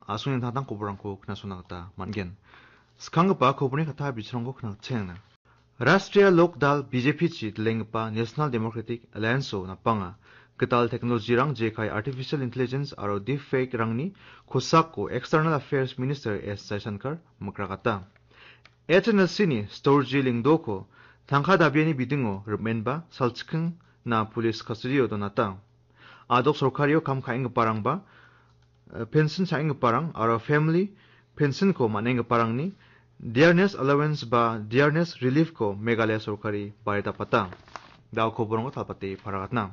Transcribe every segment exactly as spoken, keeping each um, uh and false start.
a·songni an·tangtang koborrangko knasona gita man·gen. Skanggipa koborni katta biterangko knatengna. Rashtriya Lok Dal B J P-chi dilenggipa National Democratic Alliance-o napanga gital teknolojirang jekai artificial intelligence aro deepfake-rangni kosako External Affairs Minister S Jaishankar mikrakata. H N L C-ni Storji Lyngdoh-ko tangka dabiani bidingo rim·enba salchikkingna police custody-o donata. A·dok sorkario kam ka·enggiparangba, eh, pension cha·enggiparang aro family pension-ko man·enggiparangni dearness allowance ba dearness relief-ko Meghalaya sorkari baridapata. Da·o koborongko talpate paragatna.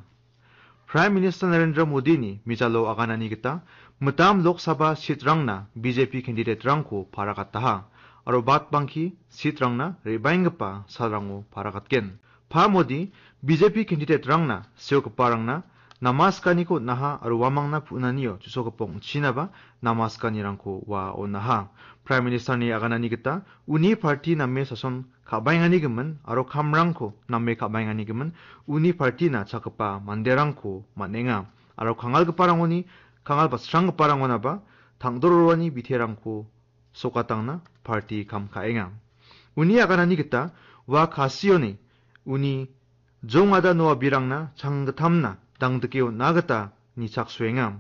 Prime Minister Narendra Modini mijalo aganani gita mitam Lok Sabha seat-rangna B J P candidate-rangko paragataha aro batbangki seat-rangna re·baenggipa salrango paragatgen. Pa Modi B J P candidate-rangna seogiparangna namaskaniko on·aha aro uamangna pu·nanio chu·sokgipa ong·chinaba namaskanirangko ua on·aha. Prime Minister-ni aganani gita uni party name sason ka·baenganigimin aro kamrangko name ka·baenganigimin uni party-na chakgipa manderangko man·enga. Aro kangalgiparangoni kangal batsranggiparangonaba tangdororani biterangko sokatangna party kam ka·enga. Uni aganani gita ua Kasioni uni jongada noa birangna changgittamna dangdike on·a gita nichaksoenga.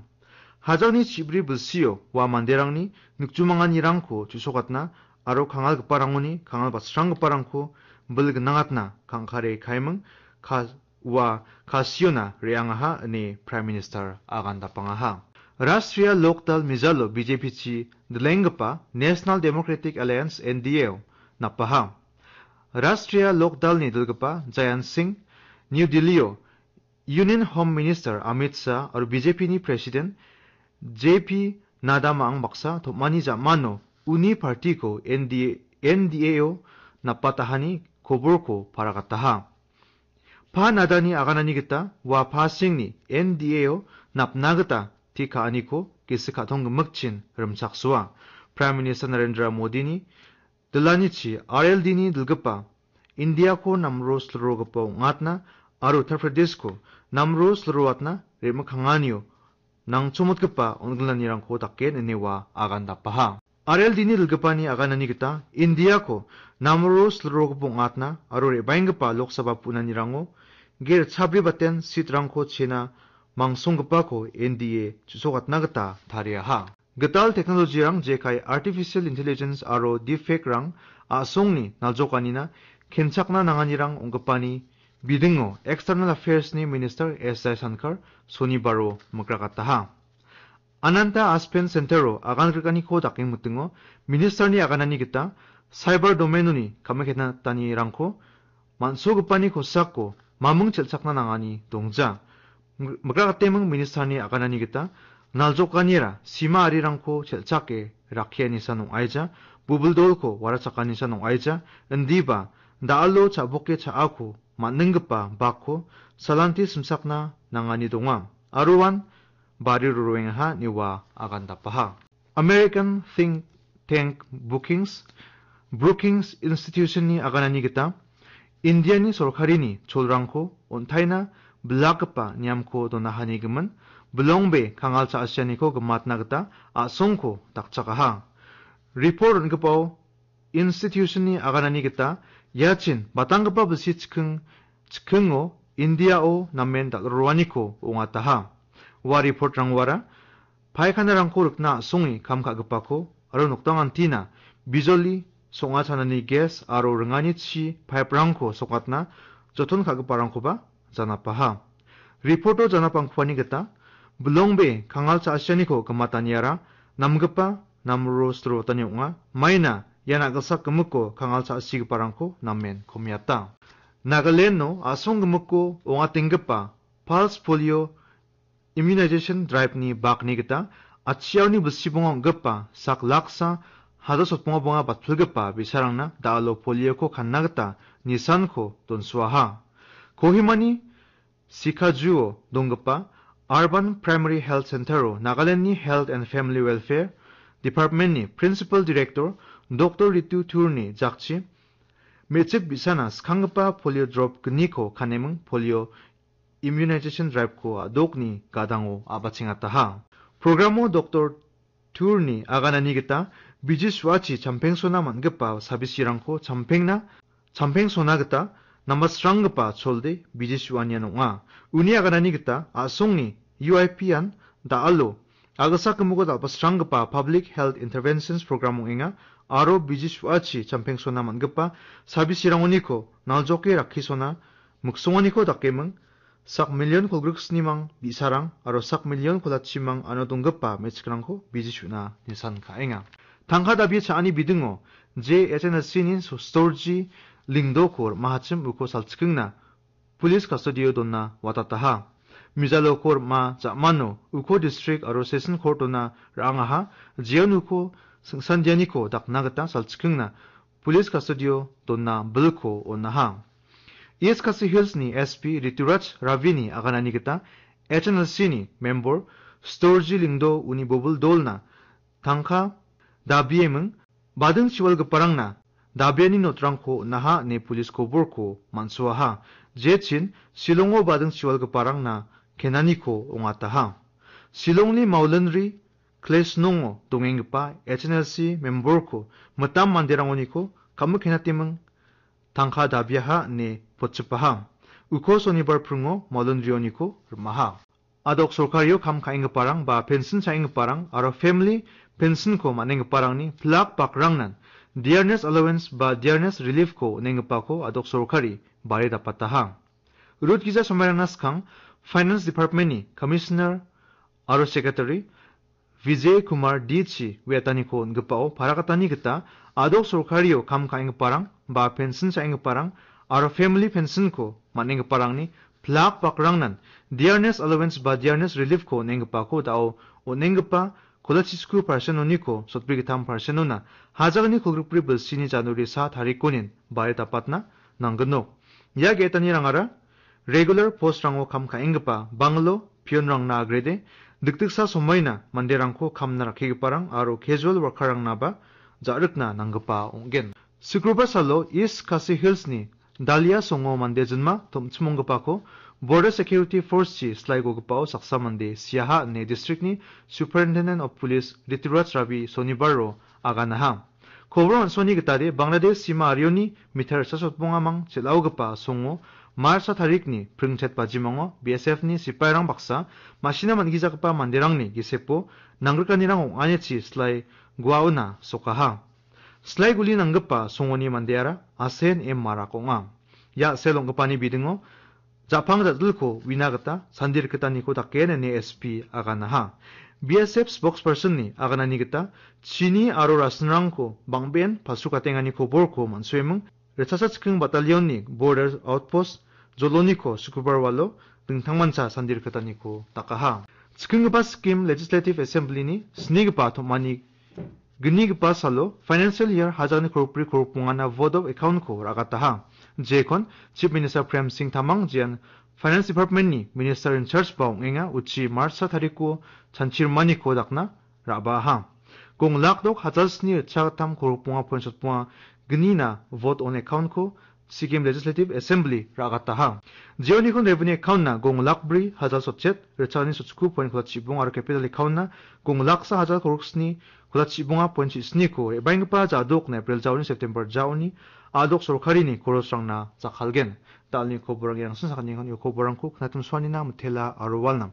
Hajangni chibri bilsio ua manderangni nikjomanganirangko chu·sokatna aro kangalgiparangoni kangal batsranggiparangko bil gnangatna kangkare kaiming ka-, ua Kasiona re·angaha ine Prime Minister agandapangaha. Rashtriya Lok Dal mijalo B J P-chi dilenggipa National Democratic Alliance N D A-o napaha. Rashtriya Lok Dal-ni dilgipa Jayant Singh, New Delhi-o Union Home Minister Amit Shah aro B J P-ni President J P Nadda ma·ang baksa tom·ani ja·mano uni party-ko N D A, N D A-o napatahani koborko paragataha. Pa Nadda-ni aganani gita ua Pa Singh-ni N D A-o napna gita tik ka·aniko gisik ka·tong gimikchin rimchaksoa. Prime Minister Narendra Modini dilanichi R L D-ni dilgipa Indiako namro silrogipa ong·atna aro Uttar Pradeshko namro silroatna re·mikkanganio nangchomotgipa on·gilanirangko daken ine ua agandapaha. R L D-ni dilgipani aganani gita Indiako namro silrogipa ong·atna aro re·baenggipa Lok Sabha pu·nanirango ger chabri baten seat-rangko chena mangsunggipako N D A chu·sokatna gita tariaha. Gital teknolojirang jekai artificial intelligence aro deepfake-rang a·songni naljokanina kenchakna nanganirang ong·gipani bidingo External Affairs-ni Minister S Jaishankar sonibaro mikrakataha. Ananta Aspen Center-o agan grikaniko dakengmitingo Minister-ni aganani gita cyber domain-oni kamiketna tanirangko man·sogipani kosako maming chelchakna nangani dongja. Mik-, mikrakateming Minister-ni aganani gita naljokanira sima arirangko chelchake rakkianisan ong·aija, bubil dolko warachakaninisan ong·aija, indiba da·alo cha·boke cha·ako man·ninggipa bakko salanti simsakna nangani donga. Aruan bari roroengaha ine ua agandapaha. American think tank Brookings, Brookings Institution-ni aganani gita Indiani sorkarini cholrangko on·taina bilakgipa niamko donahanigimin bilongbe kangal cha·asianiko gimatna gita a·songko dakchakaha. Report on·gipao institution-ni aganani gita iachin batanggipa bilsi chikking, chikkingo Indiao namen dal·roaniko ong·ataha. Ua report-rangwara paikhanarangko rikna a·songe kam ka·gipako aro nokdangantina bijoli, song·a chanani gas aro ringani chi pipe-rangko sokatna joton ka·giparangkoba janapaha. Report-o janapangkuani gita bilongbe kangal cha·asianiko gimataniara namgipa namro silrotani ong·a. Maina ia na·gilsak gimikko kangal cha·sigiparangko namen komiata. Nagaland-o a·song gimikko ong·atenggipa Pulse Polio Immunization Drive-ni bakni gita atchiaoni bilsibonga ong·gipa sak laksa hajar sotbonga bonga batpilgipa bi·sarangna da·alo polio-ko kanna gita nisanko donsoaha. Kohimani Sikajuo donggipa Urban Primary Health Center-o Nagaland-ni Health and Family Welfare Department-ni Principal Director Doctor Ritu Thur-ni jakchi, me·chik bi·sana skanggipa polio drop gniko kaneming polio immunization drive-ko a·dokni gadango a·bachengataha. Programo Doctor turni aganani gita biji su·achi champengsona man·gipa sabisirangko champengna, champengsona gita nambatsranggipa cholde biji su·anian ong·a. Uni aganani gita a·songni U I P-an da·alo agasa gimiko dal·basranggipa Public Health Interventions Program ong·enga aro biji su·achi champengsona man·gipa sabisirangoniko naljoke rakkisona miksonganiko dakeming sak million kolgriksnimang bi·sarang aro sak million kolachimang ano donggipa me·chikrangko biji su·na nisan ka·enga. Tangka dabi cha·ani bidingo J H N L C-ni so-, storji Lingdoko rim·ahachim uko salchikingna police custody-o donna watataha. Mijaloko rim·a ja·mano uko district aro session court-ona ra·angaha, jeon uko singsandianiko dakna gita salchikingna police custody-o donna bilko on·aha. East Khasi Hills-ni S P Rituraj Ravi-ni aganani gita H N L C-ni member Storji Lingdo uni bobil dolna tangka dabieming bading chiwalgiparangna dabiani notrangko on·aha ine police koborko man·soaha. Jechin Shillongo bading chiwalgiparangna kenaniko ong·ataha. Shillongni Maulinri Klesnongo dongenggipa H N L C memberko mitam manderangoniko kamikkenateming tangka dabiaha ine potchipaha. Uko sonibar pringo Maulinrioniko rim·aha. Adok sorkario kam ka·enggiparang ba pensin cha·enggiparang aro family pensinko man·enggiparangni pilak bakrangnan dearness allowance ba dearness relief-ko on·enggipako adok sorkari bare dapataha. Rut gija somairangna skang Finance Department-ni Commissioner aro Secretary Vijay Kumar D chi uiataniko on·gipao parakatani gita adok sorkario kam ka·enggiparang ba pensin cha·enggiparang aro family pensinko man·enggiparangni pilak bakrangnan dearness allowance ba dearness relief-ko on·enggipako da·o on·enggipa kolachisiku parsenoniko sotbrigittam parsenona hajalni kolgrikbri bilsini January sa tarikonin bare dapatna nanggnok. Ia ge·etanirangara regular post-rango kam ka·enggipa banglo pionrangna agrede, dikdiksa somoina manderangko kamna rakkigiparang aro casual worker-rangnaba ja·rikna nanggipa ong·gen. Sukrobar salo East Khasi Hills-ni Dalia songo mande jinma tom·chim ong·gipako Border Security Force-chi silaigogipao saksa mande siaha ine district-ni Superintendent of Police Rituraj Ravi sonibaro aganaha. Kobor on·soni gitade Bangladesh sima arioni meter sasotbongamang chel·aogipa songo March sa tarikni pringchet bajimango B S F-ni sipairang baksa ma·sina man·gijagipa manderangni gisepo nanggrikanirang ong·anichi silai guaona sokaha. Silai guli nanggipa songoni mandeara Asen M Marak ong·a. Ia sel ong·gipani bidingo ja·pang ja·dilko uina gita sandi rikitaniko dakgen ine S P aganaha. B S F spokesperson-ni aganani gita chini aro rasinrangko bang·ben palsukatenganiko borko man·sueming Ritchasa Chikking Battalion-ni Border Outpost Joloniko Sukrobar walo dingtangmancha sandi rikitaniko dakaha. Chikinggipa Sikkim Legislative Assembly-ni snigipa tom·ani gnigipa salo financial year hajalni korokbri korokbongana vote of account-ko ra·gataha. Jekon Chief Minister Prem Singh Tamang jean Finance Department-ni Minister in charge ba ong·enga uchi March sa tariko chanchimaniko dakna ra·baaha. Gong lak dok hajal sni ritchagittam korokbonga point sotbonga gnina vote on account-ko Sikkim Legislative Assembly ra·gataha. Jeonikon revenue account-na gong lak bri hajal sotchet, ritchagni sotchiko point kolachibong aro capital account-na gong laksa hajal koroksni kolachibonga point chisniko re·baenggipa jadokna April jaoni September jaoni adok sorkarini korosrangna jakkalgen. Dalni koborang iarangsin sakantikon ia koborangko knatimsoanina mitela aro walnam.